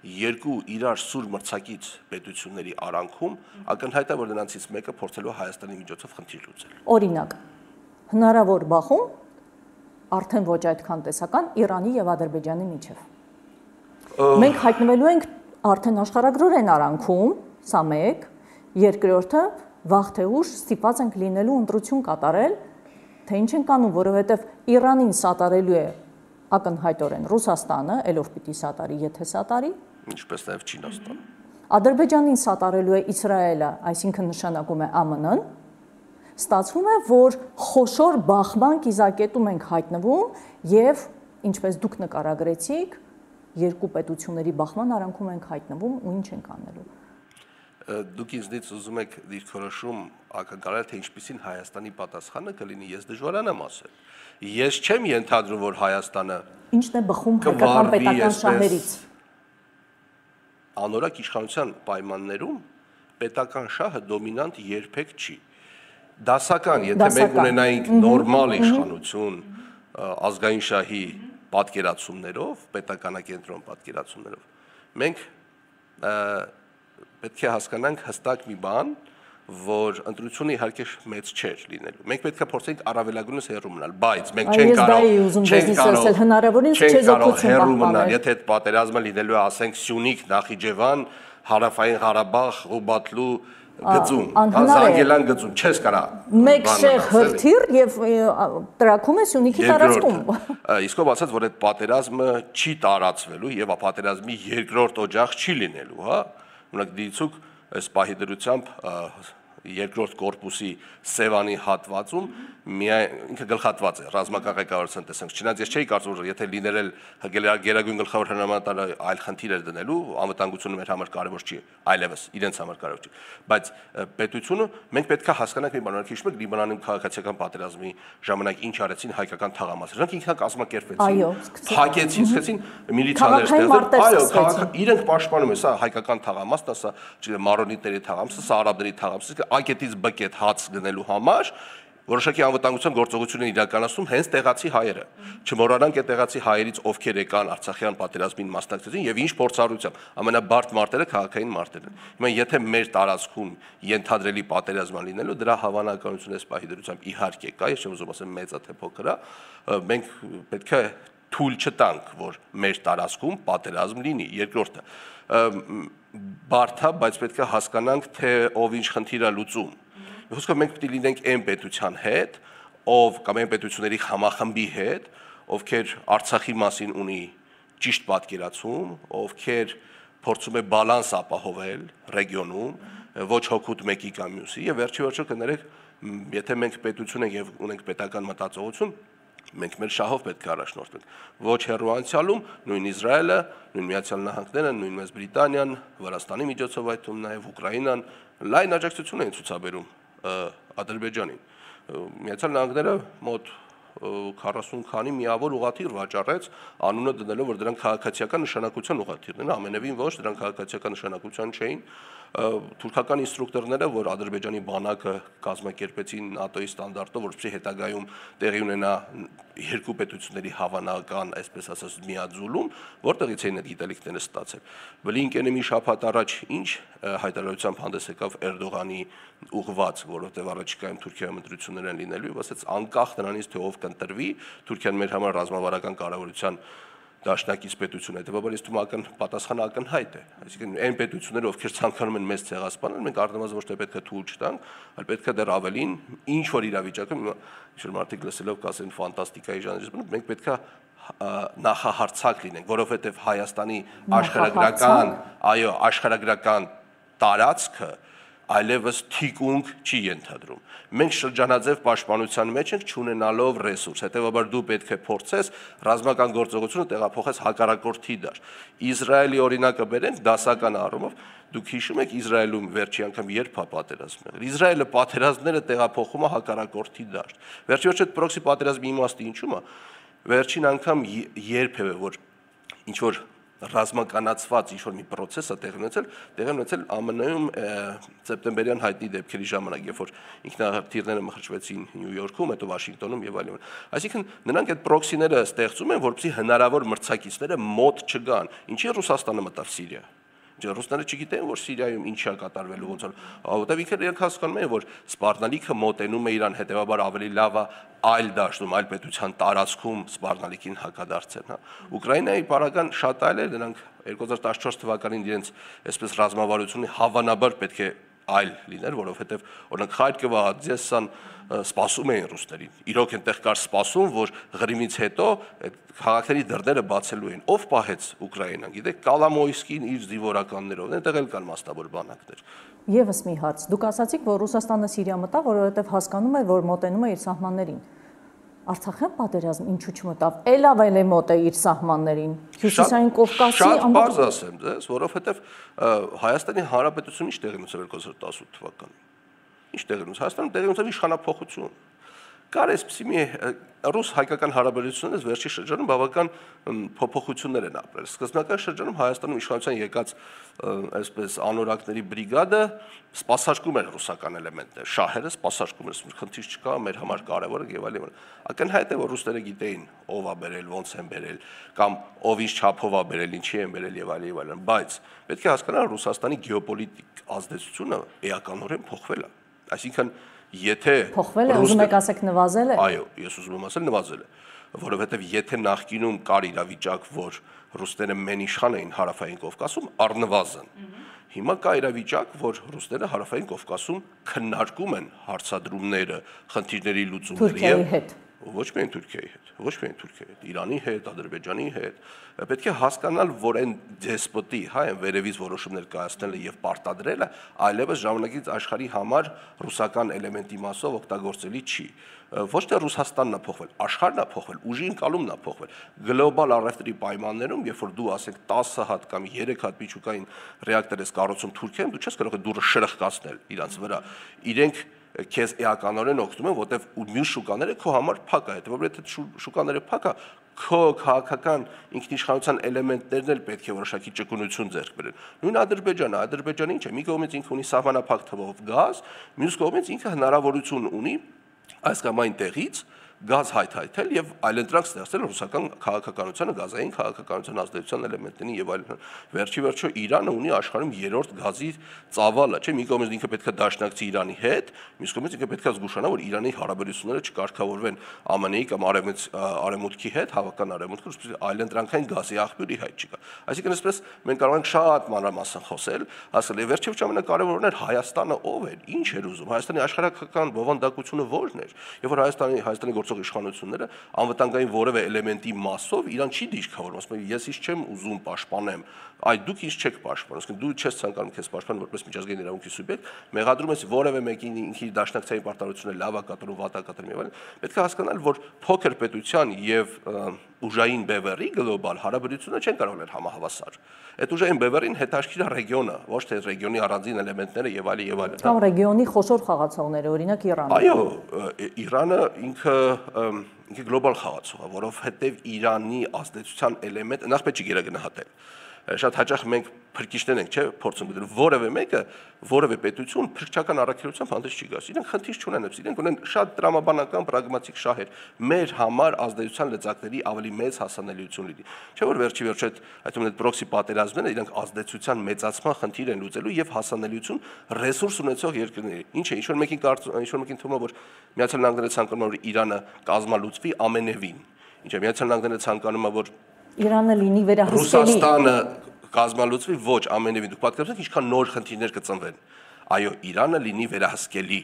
S2: երկու իրար սուր մրցակից պետությունների արանքում, ակնհայտ է, որ նրանցից մեկը փորձելու է Հայաստանի միջոցով խնդիր լուծել։
S1: Օրինակ, հնարավոր բախում արդեն ոչ այդքան տեսական Իրանի եւ Ադրբեջանի միջև։ Մենք հայտնվելու ենք արդեն աշխարհագրորեն արանքում, սա մեկ, երկրորդը վաղ թե ուշ ստիպված ենք լինելու ընտրություն կատարել, թե ինչ ենք անում, որովհետեւ Իրանին սատարելու է ակնհայտորեն Ռուսաստանը, ելով պիտի սատարի, եթե սատարի,
S2: ինչպես նաեւ Չինաստանը։
S1: Ադրբեջանին սատարելու է Իսրայելը, այսինքն նշանակում է ԱՄՆ-ն, ստացվում է, որ խոշոր բախման կիզակետում ենք հայտնվում եւ ինչպես դուք նկարագրեցիք, երկու պետությունների բախման արանքում ենք հայտնվում ու ինչ ենք անելու։
S2: Դուք ինձնից ուզում եք դիրքորոշում ակնկալել, թե ինչպիսին Հայաստանի պատասխանը կլինի, ես դժվարան եմ ասել։ Ես չեմ ենթադրում, որ Հայաստանը
S1: ինչն է բխում հայկական պետական շահերից։
S2: Անորակ իշխանության պայմաններում պետական շահը դոմինանտ երբեք չի։ Դասական, եթե մենք ունենայինք նորմալ իշխանություն ազգային շահի պատկերացումներով, պետականակենտրոն պատկերացումներով, մենք պետք է հասկանանք հստակ մի բան, որ ընտրությունը իհարկե մեծ չէր լինելու։ Մենք պետք է փորձենք առավելագույնս հեռու մնալ, բայց մենք չենք կարող հեռու մնալ, եթե այդ պատերազմը լինելու է, ասենք, Սյունիք, Նախիջևան, Հարավային Ղարաբաղ, Ղուբատլու գծում, Զանգելան գծում, չես կարա։
S1: Մեկ շեղ հրթիռ եւ տրակում է Սյունիքի տարածքում։
S2: Իսկով ասած, որ այդ պատերազմը չի տարածվելու եւ պատերազմի երկրորդ օջախ չի լինելու, հա։ Օրինակ դիցուկ այս պահի դրությամբ երկրորդ կորպուսի Սևանի հատվածում ինքը գլխատված է ռազմական ղեկավարության տեսանք։ Չնայած ես չէի կարծում, որ եթե լինել գերագույն գլխավոր հրամանատարը այլ խնդիր էր դնելու, անվտանգությունը մեր համար կարևոր չի, այլևս իրենց համար կարևոր չի, բայց պետությունը մենք պետք է հասկանանք մի բան, օրինակ հիշում եք Լիբանանում քաղաքացիական պատերազմի ժամանակ ինչ արեցին հայկական թաղամասերը, նրանք ինքնակազմակերպվեցին, փակեցին, սկսեցին միլիցիաներ ստեղծել, այո, իրենք պաշտպանում են, սա հայկական թաղամասն է, սա մարոնիտների թաղամասը, սա արաբների թաղամասը, ակետից բկետ հաց գնելու համար որոշակի անվտանգության գործողություն են իրականացնում հենց տեղացի հայերը։ Չմոռանանք այդ տեղացի հայերից ովքեր եկան Արցախյան պատերազմին մասնակցեցին եւ ինչ փորձառությամբ ամենաբարդ մարտերը քաղաքային մարտեր են։ Հիմա եթե մեր տարածքում ենթադրելի պատերազմ լինելու դրա հավանականությունը այս պահի դրությամբ իհարկե կա, ես չեմ ուզում ասեմ մեծա թե փոքր է, մենք պետք է թույլ չտանք, որ մեր տարածքում պատերազմ լինի։ Երկրորդը բարդ է, բայց պետք է հասկանանք, թե ով ինչ խնդիր է լուծում։ Հուսքով մենք պետք է լինենք այն պետության հետ, ով կամ այն պետությունների համախմբի հետ, ովքեր Արցախի մասին ունի ճիշտ պատկերացում, ովքեր փորձում է բալանս ապահովել ռեգիոնում, ոչ հոգուտ մեկի կամ մյուսի, եւ վերջիվերջո կներեք, եթե մենք պետություն ենք եւ ունենք պետական մտածողություն, մենք մեր շահով պետք է առաջնորդվենք։ Ոչ հեռու անցյալում նույն Իսրայելը, նույն Միացյալ Նահանգները, նույն Մեծ Բրիտանիան, Վրաստանի միջոցով այդ թվում նաեւ Ուկրաինան լայն աջակցություն են ցուցաբերում Ադրբեջանին։ Միացյալ Նահանգները մոտ 40 քանի միավոր ուղղաթիռ վաճառեց, անունը դնելով, որ դրանք քաղաքացիական նշանակության ուղղաթիռն են, ամենևին ոչ, դրանք քաղաքացիական նշանակության չէին։ Թուրքական ինստրուկտորները, որ Ադրբեջանի բանակը կազմակերպեցին ՆԱՏՕ-ի ստանդարտով, որպեսզի հետագայում տեղի ունենա երկու պետությունների հավանական, այսպես ասած, միաձուլում, որտեղից էին այդ գիտելիքները ստացել։ Բլինկենը մի շաբաթ առաջ ինչ հայտարարությամբ հանդես եկավ Էրդողանի ուղղված, որովհետև առաջիկայում Թուրքիայում ընտրություններ են լինելու, եւ ասաց անկախ նրանից թե ով կընտրվի, Թուրքիան մեր համար ռազմավարական կարևորության դաշնակից պետություն է, հետևաբար ես թվում պատասխանը ակնհայտ է, այսինքն այն պետությունները, ովքեր ցանկանում են մեզ ցեղասպանել, մենք առնվազն ոչ թե պետք է թույլ չտանք, այլ պետք է դեռ ավելին ինչ որ իրավիճակում, ինչ-որ մարդիկ լսելով կասեն ֆանտաստիկայի ժանրից, մենք պետք է նախահարցակ լինենք, որովհետև Հայաստանի աշխարհագրական տարածքը այլևս թիկունք չի ենթադրում։ Մենք շրջանաձև պաշտպանության մեջ ենք չունենալով ռեսուրս, հետևաբար դու պետք է փորձես ռազմական գործողությունը տեղափոխես հակառակորդի դաշտ։ Իսրայելի օրինակը բերենք դասական առումով, դուք հիշում եք Իսրայելում վերջի անգամ երբ է պատերազմ եղել։ Իսրայելը պատերազմները տեղափոխում է հակառակորդի դաշտ։ Վերջի պրոքսի պատերազմի իմաստը ինչու՞մ է։ Վերջին անգամ երբևէ որ ինչ որ ռազմականացված ինչ-որ մի process է տեղի ունեցել ԱՄՆ-ում սեպտեմբերյան հայտնի դեպքերի ժամանակ, երբ որ ինքնաթիռները մխրճվեցին Նյու Յորքում, հետո Վաշինգտոնում եւ այլն։ Այսինքն նրանք այդ պրոքսիները ստեղծում են, որպեսզի հնարավոր մրցակիցները մոտ չգան։ Ինչի Ռուսաստանը մտավ Սիրիա։ Ռուսները չգիտեն, որ Սիրիայում ինչ է կատարվելու ոնց որ, որտեղ ինքները հասկանում են, որ սպառնալիքը մոտենում է իրան, հետեւաբար ավելի լավ է այլ դաշտում, այլ պետության տարածքում սպառնալիքին հակադարձեն, հա։ Ուկրաինայի պարագան շատ այլ է, նրանք 2014 թվականին իրենց այսպես ռազմավարությունը հավանաբար պետք է այլ լիներ, որովհետև օրինակ Խարկովը, Օդեսան սպասում էին ռուսներին։ Իրոք այնտեղ կար սպասում, որ Ղրիմից հետո այդ քաղաքների դռները բացելու են։ Ով պահեց Ուկրաինան, գիտեք, Կալամոյսկին իր զինվորականներով, այնտեղ էլ կան մասնավոր բանակներ։
S1: Եվս մի հարց։ Դուք ասացիք, որ Ռուսաստանը Սիրիա մտավ, որովհետև հասկանում է, որ մոտենում է իր սահմաններին։ Արցախյան պատերազմ ինչու չմտավ, էլ մոտ է իր սահմաններին, Հյուսիսային Կովկասի
S2: շատ բարձ ասեմ ձեզ, որովհետև Հայաստանի Հանրապետությունը ինչ տեղի ունեցավ 2018 թվականին։ Ինչ տեղի ունեցավ, Հայաստանում տեղի ունեցավ իշխանափոխություն։ Կար այսպիսի մի ռուս-հայկական հարաբերություններից վերջի շրջանում բավական փոփոխություններ են ապրել։ Սկզբնական շրջանում Հայաստանում իշխանության եկած այսպես անորակների բրիգադը սպասարկում էր ռուսական էլեմենտներ, շահերը սպասարկում էր, խնդիր չկա, մեր համար կարևոր է եւ այլն։ Ակնհայտ է, որ ռուսները գիտեին ով է բերել, ոնց են բերել, կամ ով ինչ չափով է բերել, ինչի են բերել եւ այլն, բայց պետք է հասկանալ Ռուսաստանի գեոպոլիտիկ ազդեցությունը էականորեն փոխվել է։ Այսինքն եթե
S1: փոխվել է, ուզում եք ասեք նվազել է։
S2: Այո, ես ուզում եմ ասել նվազել է, որովհետև եթե նախկինում կար իրավիճակ, որ ռուսները մենիշխան էին Հարավային Կովկասում, առնվազն, հիմա կա իրավիճակ, որ ռուսները Հարավային Կովկասում քննարկում են հարցադրումները, խնդիրների լուծումները եւ ոչ միայն Թուրքիայի հետ, ոչ միայն Թուրքիայի հետ, Իրանի հետ, Ադրբեջանի հետ, պետք է հասկանալ, որ այն դեսպոտի, հա, այն վերևից որոշումներ կայացնելը եւ պարտադրելը այլևս ժամանակից աշխարհի համար ռուսական էլեմենտի մասով օգտագործելի չի։ Ոչ թե Ռուսաստանն է փոխվել, աշխարհն է փոխվել, ուժի ընկալումն է փոխվել։ Գլոբալ առևտրի պայմաններում, երբ որ դու ասենք 10 հատ կամ 3 հատ միջուկային ռեակտոր ես կառուցում Թուրքիայում, դու չես կարող դուրը շրխկացնել իրանց վրա։ Իրենք քեզ էականորեն օգնում են, որտեվ մյուս շուկաները քո համար փակ է, հետեւաբար եթե շուկաները փակ է, քո քաղաքական ինքնիշխանության էլեմենտներն էլ պետք է որոշակի ճկունություն ձեռք բերեն։ Նույն Ադրբեջանը ինչ է, մի կողմից ինքը ունի սահմանափակ թվով գազ, մյուս կողմից ինքը հնարավորություն ունի այս կամ այն տեղից գազ հայթայթել եւ այլընտրանք ստեղծել ռուսական քաղաքականությանը, գազային քաղաքականության ազդեցության էլեմենտներին եւ այլն։ Վերջի Իրանը ունի աշխարհում երրորդ գազի ծավալը, չէ՞, մի կողմից ինքը պետք է դաշնակցի Իրանի հետ, մյուս կողմից ինքը պետք է զգուշանա, որ Իրանի հարաբերությունները չկարգավորվեն ԱՄՆ-ի կամ արևմուտքի հետ, հավական արևմուտքը, որպեսզի այլընտրանքային գազի աղբյուրի հայտ չկա։ Այսինքն այսպես մենք կարող ենք շատ մանրամասն խոսել, ասել է վերջի ամենակարևորն էր Հայաստանը ով էր, ինչ էր ուզում, Հայաստանի աշխարհական բովանդակությունը ո՞րն էր, եւ որ Հայաստանի գործող իշխանությունները անվտանգային որևէ էլեմենտի մասով իրան չի դիրքավորում, ասում են ես ինչ չեմ ուզում պաշտպանեմ, այ դուք ինչ չեք պաշտպանում, ասում դու չես ցանկանում քեզ պաշտպանել որպես միջազգային իրավունքի սուբյեկտ, մեղադրում ես որևէ մեկին ինքի դաշնակցային պարտավորությունը լավ է կատարում, վատ է կատարում եւ այլն, պետք է հասկանալ, որ փոքր պետության եւ ուժային բևեռի գլոբալ հարաբերությունը չեն կարող լինել համահավասար։ Այդ ուժային բևեռին հետաքրքիր է ռեգիոնը, ոչ թե ռեգիոնի առանձին էլեմենտները եւ այլն եւ այլն։
S1: Կամ ռեգիոնի խոշոր խաղացողները, օրինակ Իրանը։
S2: Այո, Իրանը ինքը ինքը գլոբալ խաղացող է, որովհետև Իրանի ազդեցության էլեմենտ նախ պետք է գերագնահատել։ Շատ հաճախ մենք փրկիչներ ենք, չէ, փորձում գտնել որևէ մեկը, որևէ պետություն փրկչական առաքելությամբ հանդես չի գալիս։ Իրենք խնդիր չունեն, իրենք ունեն շատ տրամաբանական, պրագմատիկ շահեր։ Մեր համար ազդեցության լծակների ավելի մեծ հասանելիություն լինի։ Չէ՞ որ վերջի վերջ այդ այդ պրոքսի պատերազմները իրենք ազդեցության մեծացման խնդիր են լուծելու եւ հասանելիություն ռեսուրս ունեցող երկրների։ Ինչ է, ինչ որ մեկին թվում է, որ Միացյալ Նահանգները ցանկանում է, որ Իրանը կազմալուծվի ամենևին։ Ինչ է, Միացյալ Նահանգները ցանկանում է, որ
S1: Իրանը լինի վերահսկելի։
S2: Ռուսաստանը կազմալուծվի ոչ ամենևին։ Դուք պատկերացրեք ինչքան նոր խնդիրներ կծնվեն։ Այո, Իրանը լինի վերահսկելի։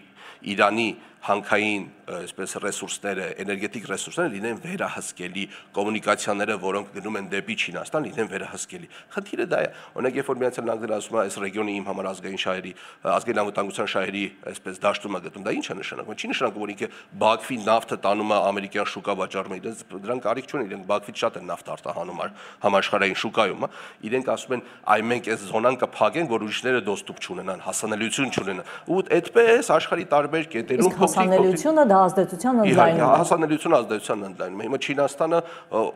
S2: Իրանի հանքային, այսպես ռեսուրսները, էներգետիկ ռեսուրսները լինեն վերահսկելի, կոմունիկացիաները, որոնք գնում են դեպի Չինաստան, լինեն վերահսկելի։ Խնդիրը դա է։ Օրինակ, երբ որ Միացյալ Նահանգները ասում է, այս ռեգիոնի իմ համար ազգային շահերի, ազգային անվտանգության շահերի, այսպես դաշտում է գտնում, դա ինչ է նշանակում։ Չի նշանակում, որ ինքը Բաքվի նավթը տանում է ամերիկյան շուկա վաճառում է, դրանք կարիք չունեն, իրենք Բաքվից շատ են նավթ արտահանում համաշխարհային շուկայում, իրենք ասում են, այ մենք այս զոնան կփակենք, որ ուրիշները դոստուպ չունենան, հասանելիություն չունենան։ Ու այդպես աշխարհի տարբեր կետերում
S1: հասանելիությունը դա ազդեցության ընդլայնում է։
S2: Հասանելիությունը ազդեցության ընդլայնում է։ Հիմա Չինաստանը,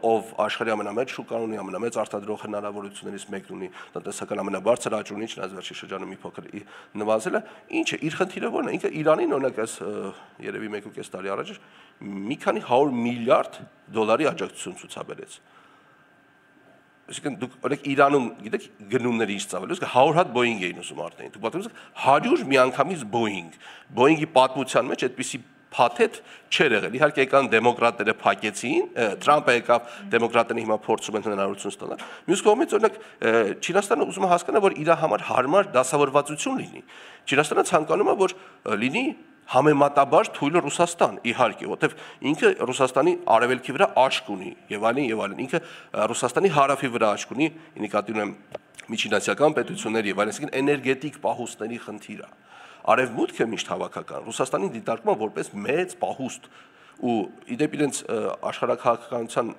S2: ով աշխարհի ամենամեծ շուկան ունի, ամենամեծ արտադրող հնարավորություններից մեկն ունի, տնտեսական ամենաբարձր աճ ունի, չնայած վերջի շրջանում մի փոքր նվազել է, ինչ է, իր խնդիրը ո՞րն է։ Ինքը Իրանին օրինակ այս երևի 1.5 տարի առաջ մի քանի 100 միլիարդ դոլարի աջակցություն ցուցաբերեց։ Այսինքն դուք օրինակ Իրանում գիտեք գնումները ինչ ծավալը, իսկ 100 հատ Boeing էին ուզում արտեն։ Դուք պատկերացրեք 100 միանգամից Boeing։ Boeing-ի պատմության մեջ այդպիսի փաթեթ չէր եղել։ Իհարկե եկան դեմոկրատները փակեցին, Թրամփը եկավ, դեմոկրատները հիմա փորձում են հնարավորություն ստանալ։ Մյուս կողմից օրինակ Չինաստանը ուզում է հասկանալ, որ իր համար հարմար դասավորվածություն լինի։ Չինաստանը ցանկանում է, որ լինի համեմատաբար թույլ Ռուսաստան, իհարկե, որովհետև ինքը Ռուսաստանի արևելքի վրա աչք ունի եւ այլն եւ այլն։ Ինքը Ռուսաստանի հարավի վրա աչք ունի, նկատի ունեմ միջինասիական պետությունների եւ այլն, այսինքն էներգետիկ պահուստների խնդիր է։ Արևմուտքը միշտ հավաքական Ռուսաստանին դիտարկում է որպես մեծ պահուստ ու իդեպ իրենց աշխարհակահաղականության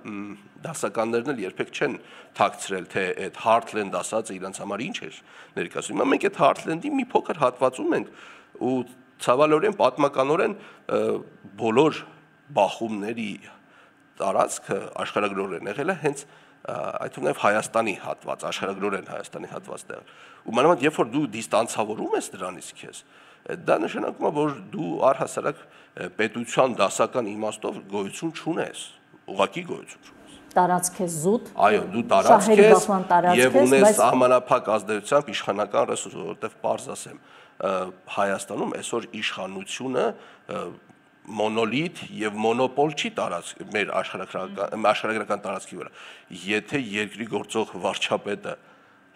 S2: դասականներն էլ երբեք չեն թաքցրել, թե այդ Heartland ասածը իրենց համար ինչ էր ներկայացնում։ Հիմա մենք այդ Heartland-ի մի փոքր հատվածում ենք ու ցավալորեն պատմականորեն բոլոր բախումների տարածքը աշխարհագրորեն եղել է հենց այդ թվում նաև Հայաստանի հատված, աշխարհագրորեն Հայաստանի հատված դեռ։ Ու մանավանդ երբ որ դու դիստանցավորում ես դրանից քեզ, դա նշանակում է, որ դու առհասարակ պետության դասական իմաստով գոյություն չունես, ուղղակի գոյություն չունես։
S1: Տարածք ես զուտ։
S2: Այո, դու տարածք ես եւ ունես սահմանափակ ազդեցությամբ իշխանական ռեսուրս, որովհետեւ պարզ ասեմ, Հայաստանում այսօր իշխանությունը մոնոլիթ եւ մոնոպոլ չի տարածք մեր աշխարհագրական տարածքի վրա։ Եթե երկրի գործող վարչապետը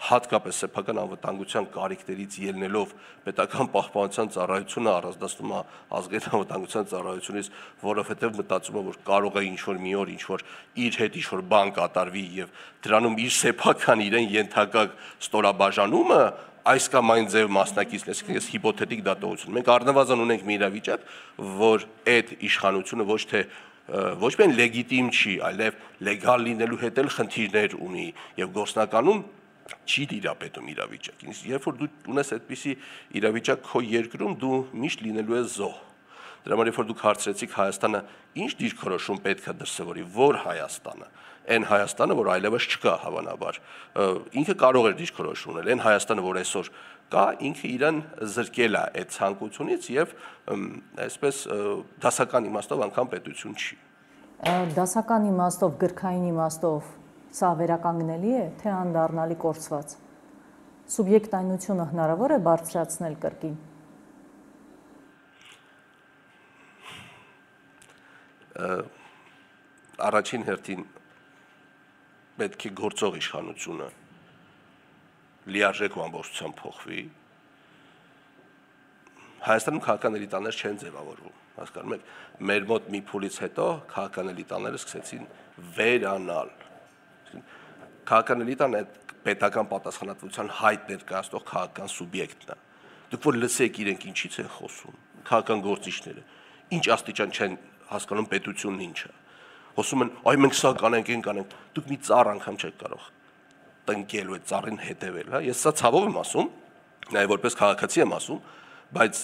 S2: հատկապես սեփական անվտանգության կարիքներից ելնելով պետական պահպանության ծառայությունը առանձնացնում է ազգային անվտանգության ծառայությունից, որովհետև մտածում է, որ կարող է ինչ-որ մի օր ինչ-որ իր հետ ինչ-որ բան կատարվի եւ դրանում իր սեփական իրեն ենթակա ստորաբաժանումը այս կամ այն ձև մասնակից լսեք, ես հիպոթետիկ դատողություն։ Մենք առնվազն ունենք մի իրավիճակ, որ այդ իշխանությունը ոչ միայն լեգիտիմ չի, այլև լեգալ լինելու հետ էլ խնդիրներ ունի եւ գործնականում չի դիրապետում իրավիճակին։ Երբ որ դու ունես այդպիսի իրավիճակ քո երկրում, դու միշտ լինելու ես զոհ։ Դրա համար երբ որ դուք հարցրեցիք Հայաստանը ինչ դիրքորոշում պետք է դրսևորի, որ Հայաստանը, այն Հայաստանը, որ այլևս չկա հավանաբար, ինքը կարող է դիրքորոշում ունել, այն Հայաստանը, որ այսօր կա, ինքը իրան զրկել է այդ ցանկությունից եւ այսպես դասական իմաստով անգամ պետություն չի։
S1: Դասական իմաստով, գրքային իմաստով սա վերականգնելի է, թե անդառնալի կորցված։ Սուբյեկտայնությունը հնարավոր է բարձրացնել կրկին։
S2: Առաջին հերթին պետք է գործող իշխանությունը լիարժեք ու ամբողջությամբ փոխվի։ Հայաստանում քաղաքական էլիտաներ չեն ձևավորվում, հասկանում եք, մեր մոտ մի փուլից հետո քաղաքական էլիտաները սկսեցին վերանալ։ Քաղաքական էլիտան այդ պետական պատասխանատվության հայտ ներկայացնող քաղաքական սուբյեկտն է։ Դուք որ լսեք իրենք ինչից են խոսում, քաղաքական գործիչները, ինչ աստիճան չեն հասկանում պետությունն ինչ է։ Խոսում են, այ մենք սա կանենք, դուք մի ծառ անգամ չեք կարող տնկել ու այդ ծառին հետևել, հա։ Ես սա ցավով եմ ասում, նաև որպես քաղաքացի եմ ասում, բայց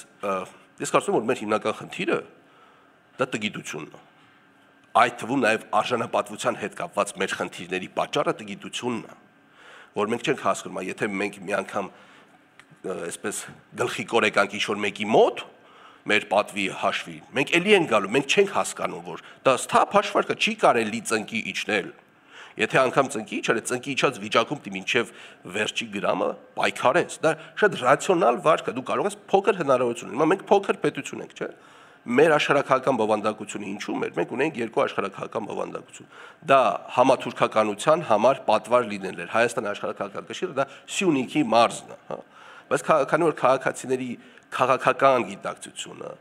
S2: ես կարծում եմ, որ մեր հիմնական խնդիրը դա տգիտությունն է։ այդ թվում նաև արժանապատվության հետ կապված մեր խնդիրների պատճառը տգիտությունն է, որ մենք չենք հասկանում, եթե մենք մի անգամ այսպես գլխի կորեկանք ինչ-որ մեկի մոտ մեր պատվի հաշվի, մենք էլի ենք գալու, մենք չենք հասկանում, որ դա սթափ հաշվարկը չի կարելի ծնկի իջնել։ Եթե անգամ ծնկի իջել, ծնկի իջած վիճակում դի մինչև վերջի գրամը պայքարես, դա շատ ռացիոնալ վարք է, դու կարող ես փոքր հնարավորություն ունենալ, մենք փոքր պետություն ենք, չէ՞։ Մեր աշխարհակահական բովանդակությունը ինչու՞ մեր, մենք ունենք երկու աշխարհակահական բովանդակություն։ Դա համաթուրքականության համար պատվար լինել էր, Հայաստանի աշխարհակահական կշիռը դա Սյունիքի մարզն է, հա։ Բայց քանի որ քաղաքացիների քաղաքական գիտակցությունը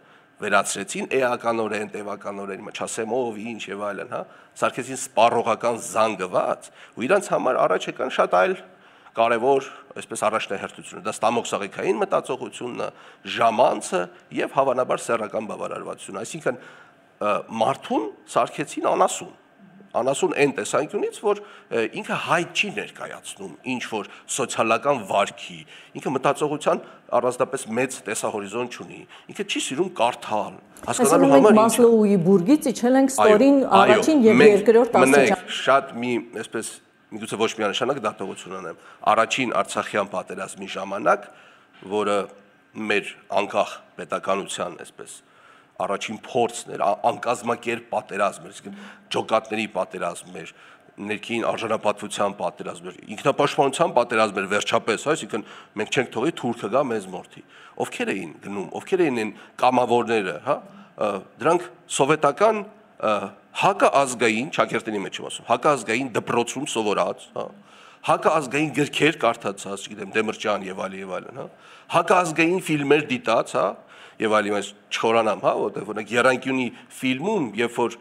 S2: վերացրեցին էականորեն, տևականորեն, չասեմ ով, ինչ եւ այլն, հա, սարքեցին սպառողական զանգված, ու իրանց համար առաջ եկան շատ այլ կարևոր, այսպես առաջնահերթությունը, դա ստամոքսաղիքային մտածողությունն է, ժամանցը եւ հավանաբար սեռական բավարարվածությունը, այսինքն մարդուն սարքեցին անասուն այն տեսանկյունից, որ ինքը հայտ չի ներկայացնում ինչ որ սոցիալական վարքի, ինքը մտածողության առանձնապես մեծ տեսահորիզոն չունի, ինքը չի սիրում կարդալ,
S1: հասկանալու համար Մասլոուի բուրգից իջել ենք ստորին առաջին եւ երկրորդ աստիճան։
S2: Շատ մի այսպես միգուցե ոչ միանշանակ դատողություն անեմ, առաջին Արցախյան պատերազմի ժամանակ, որը մեր անկախ պետականության այսպես առաջին փորձն էր, անկազմակերպ պատերազմ էր, այսինքն ջոկատների պատերազմ էր, ներքին արժանապատվության պատերազմ էր, ինքնապաշտպանության պատերազմ էր վերջապես, այսինքն մենք չենք թողի թուրքը գա մեզ մորթի։ Ովքեր էին գնում, ովքեր էին այն կամավորները, հա, դրանք սովետական հակաազգային, Չակերտինի մեջ եմ ասում, հակաազգային դպրոցում սովորած, հա, հակաազգային գրքեր կարդացած, չգիտեմ, Դեմիրճյան եւ այլն, հա, հակաազգային ֆիլմեր դիտած, հա, եւ այլն, այս չխորանամ, հա, որտեղ օրինակ Եռանկյունի ֆիլմում, երբ որ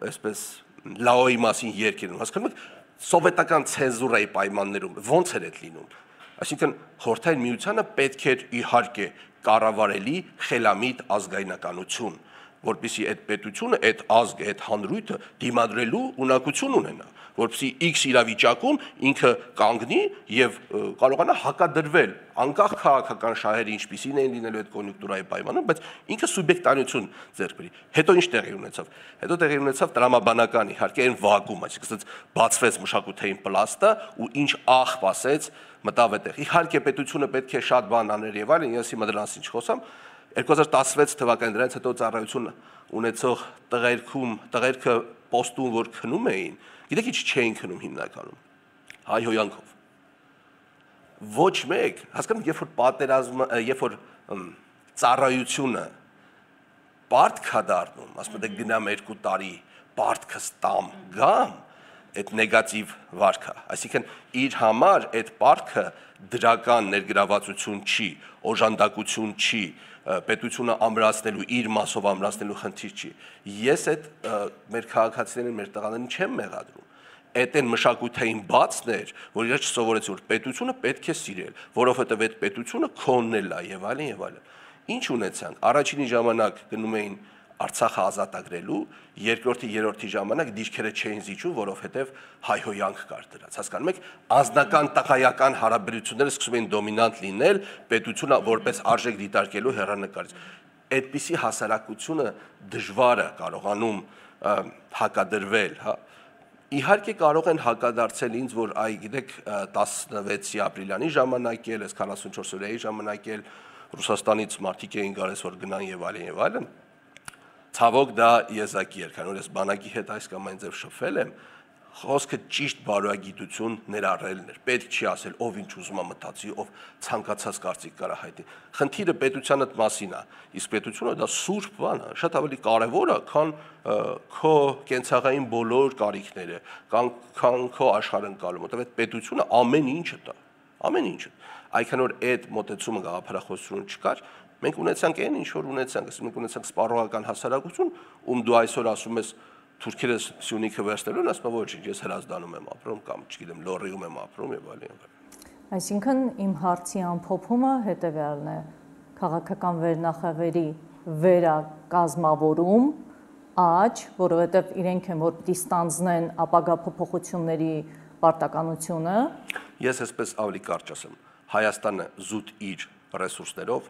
S2: այսպես Լաոյի մասին երգերում, հասկանում եք, սովետական ցենզուրայի պայմաններում ո՞նց էր այդ լինում։ Այսինքն Խորհրդային Միությանը պետք էր իհարկե կառավարելի խելամիտ ազգայնականություն, որպեսզի այդ պետությունը, այդ ազգը, այդ հանրույթը դիմադրելու ունակություն ունենա, որպեսզի X իրավիճակում ինքը կանգնի եւ կարողանա հակադրվել անկախ քաղաքական շահերի, ինչպիսին են լինելու այդ կոնյունկտուրայի պայմանում, բայց ինքը սուբյեկտանություն ձեռք բերի։ Հետո ինչ տեղի ունեցավ։ Հետո տեղի ունեցավ տրամաբանական իհարկե այն վակուում, այսինքն բացվեց մշակութային պլաստը ու ինչ աղբ ասեց մտավ այդտեղ։ Իհարկե պետությունը պետք է շատ բան աներ եւ այլն, ես հիմա դրանից ինչ խոսամ, 2016 թվականին դրանից հետո ծառայություն ունեցող տղերքը պոստում որ քնում էին, գիտեք ինչ չէին քնում հիմնականում, հայհոյանքով։ Ոչ մեկ, հասկանում, երբ որ պատերազմը, երբ որ ծառայությունը պարտք է դառնում, ասում եք գնամ 2 տարի պարտքը ստամ գամ, այդ նեգատիվ վարքը, այսինքն իր համար այդ պարտքը դրական ներգրավվածություն չի, օժանդակություն չի, պետությունը ամրացնելու, իր մասով ամրացնելու խնդիր չի։ Ես այդ մեր քաղաքացիներին, մեր տղաներին չեմ մեղադրում։ Այդ այն մշակութային բացն էր, որ իրաց չսովորեցի, որ պետությունը պետք է սիրել, որովհետև այդ պետությունը քոնն էլ է եւ այլն եւ այլն։ Ինչ ունեցանք։ Առաջինի ժամանակ գնում էին Արցախը ազատագրելու, երկրորդի, երրորդի ժամանակ դիրքերը չէին զիջում, որովհետև հայհոյանք կար դրած։ Հասկանում եք, անձնական տղայական հարաբերությունները սկսում էին դոմինանտ լինել, պետությունը որպես արժեք դիտարկելու հեռանկարից։ Այդպիսի հասարակությունը դժվար է կարողանում հակադրվել, հա։ Իհարկե կարող են հակադարձել ինձ, որ այ գիտեք 16 ապրիլյանի ժամանակ էլ, այս 44 օրերի ժամանակ էլ Ռուսաստանից մարդիկ էին գալիս, որ գնան եւ այլն եւ այլն։ Ցավոք դա եզակի էր, քանի որ ես բանակի հետ այս կամ այն ձև շփվել եմ, խոսքը ճիշտ բարոյագիտություն ներառելն էր։ Պետք չի ասել ով ինչ ուզում է մտածի, ով ցանկացած կարծիք կարա հայտնի։ Խնդիրը պետության այդ մասին է, իսկ պետությունը դա սուրբ բան է, շատ ավելի կարևոր է, քան քո կենցաղային բոլոր կարիքները, քան քո աշխարհընկալումը, որտեղ այդ պետությունը ամեն ինչը տա, ամեն ինչը։ Այնքան որ այդ մոտեցումը գաղափարախոսություն չկար, մենք ունեցանք այն ինչ որ ունեցանք, ասում ենք ունեցանք սպառողական հասարակություն, ում դու այսօր ասում ես թուրքերը Սյունիքը վերցնելուն, ասում եմ ոչինչ, ես Հրազդանում եմ ապրում կամ չգիտեմ Լոռիում եմ ապրում եւ այլն։
S1: Այսինքն իմ հարցի ամփոփումը հետեւյալն է. քաղաքական վերնախավերի վերակազմավորում, աճ, որովհետեւ իրենք են որ պիտի ստանձնեն ապագա փոփոխությունների պարտականությունը։
S2: Ես այսպես ավելի կարճ ասեմ, Հայաստանը զուտ իր ռեսուրսներով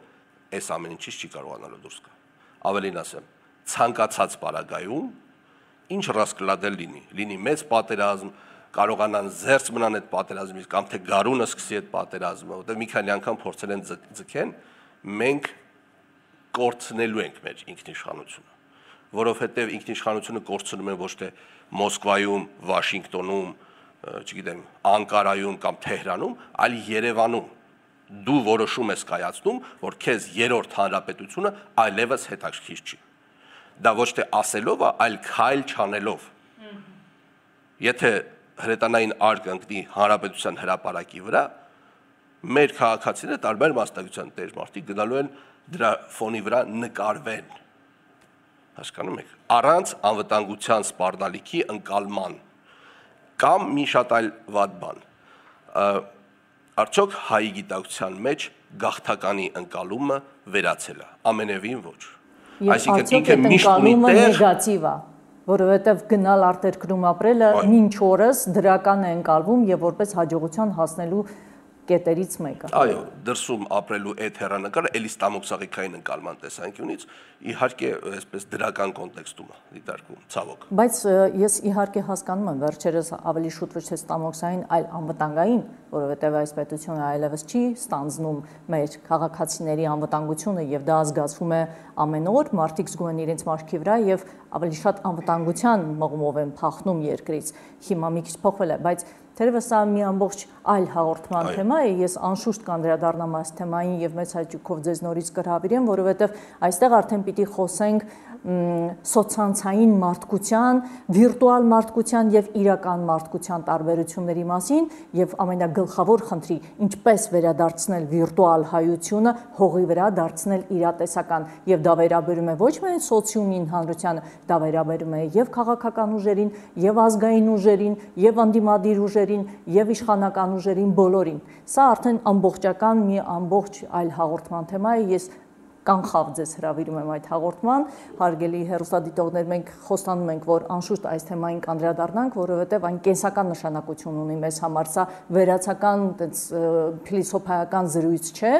S2: այս ամեն ինչից չի կարողանալու դուրս գալ։ Ավելին ասեմ, ցանկացած պարագայում ինչ ռասկլադել լինի մեծ պատերազմ, կարողանան զերծ մնան այդ պատերազմից կամ թե գարունը սկսի այդ պատերազմը, որտեղ մի քանի անգամ փորձել են ձգեն, մենք կորցնելու ենք մեր ինքնիշխանությունը, որովհետև ինքնիշխանությունը կորցնում են ոչ թե Մոսկվայում, Վաշինգտոնում, չգիտեմ, Անկարայում կամ Թեհրանում, այլ Երևանում։ Դու որոշում ես կայացնում, որ քեզ երրորդ հանրապետությունը այլևս հետաքրքիր չի։ Դա ոչ թե ասելով, այլ քայլ չանելով։ Եթե հրետանային արգ ընկնի հանրապետության հրապարակի վրա, մեր քաղաքացիները տարբեր մասնագիտության տեր մարդիկ գնալու են դրա ֆոնի վրա նկարվեն։ Հասկանում եք, առանց անվտանգության սպառնալիքի ընկալման կամ մի շատ այլ վատ բան։ Արդյոք հայի գիտակցության մեջ գաղթականի ընկալումը վերացել է, ամենևին ոչ։
S1: Այսինքն ինքը միշտ մի տեղ նեգատիվ է, որովհետև գնալ արտերկրում ապրելը մինչ օրս դրական է ընկալվում եւ որպես հաջողության հասնելու կետերից մեկը։
S2: Այո, դրսում ապրելու այդ հեռանկարը էլի ստամոքսաղիքային ընկալման տեսանկյունից իհարկե այսպես դրական կոնտեքստում է դիտարկվում, ցավոք։
S1: Բայց ես իհարկե հասկանում եմ, վերջերս ավելի շուտ ոչ թե ստամոքսային, այլ անվտանգային, որովհետև այս պետությունը այլևս չի ստանձնում մեր քաղաքացիների անվտանգությունը եւ դա զգացվում է ամեն օր, մարդիկ զգում են իրենց մարքի վրա եւ ավելի շատ անվտանգության մղումով են փախնում երկրից։ Հիմա մի քիչ փոխվել է, բայց թերևս սա մի ամբողջ այլ հաղորդման թեմա է, ես անշուշտ կանդրադառնամ այս թեմային եւ մեծ հաճույքով ձեզ նորից կհրավիրեմ, որովհետեւ այստեղ արդեն պիտի խոսենք սոցցանցային մարդկության, վիրտուալ մարդկության եւ իրական մարդկության տարբերությունների մասին եւ ամենագլխավոր խնդրի ինչպես վերադարձնել վիրտուալ հայությունը հողի վրա դարձնել իրատեսական եւ դա վերաբերում է ոչ միայն սոցիումին հանրությանը, դա վերաբերում է եւ քաղաքական ուժերին, եւ ազգային ուժերին, եւ անդիմադիր ուժերին, եւ իշխանական ուժերին բոլորին։ Սա արդեն ամբողջական մի ամբողջ այլ հաղորդման թեմա է, ես կանխավ ձեզ հրավիրում եմ այդ հաղորդման, հարգելի հեռուստադիտողներ, մենք խոստանում ենք, որ անշուշտ այս թեմային կանդրադառնանք, որովհետև այն կենսական նշանակություն ունի մեզ համար, սա վերացական փիլիսոփայական զրույց չէ,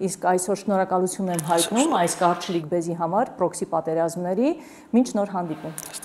S1: իսկ այսօր շնորհակալություն եմ հայտնում այս կարճ լիկբեզի համար, պրոքսի պատերազմների, մինչ նոր հանդիպում։